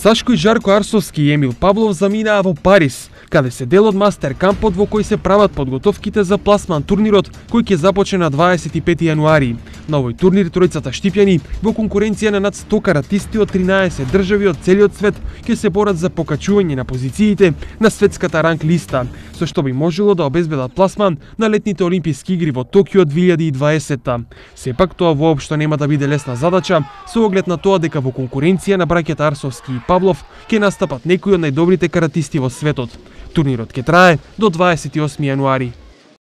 Сашко и Жарко Арсовски и Емил Павлов заминаа во Париз, каде се дел од мастер кампот во кој се прават подготовките за пласман турнирот кој ќе започне на 25 јануари. На овој турнир тројцата штипјани во конкуренција на над 100 каратисти од 13 држави од целиот свет ќе се борат за покачување на позициите на светската ранг листа, со што би можело да обезбедат пласман на летните олимписки игри во Токио 2020. Сепак тоа воопшто нема да биде лесна задача со оглед на тоа дека во конкуренција на браќата Арсовски и Павлов ќе настапат некои од најдобрите каратисти во светот. Турнирот ќе трае до 28 јануари.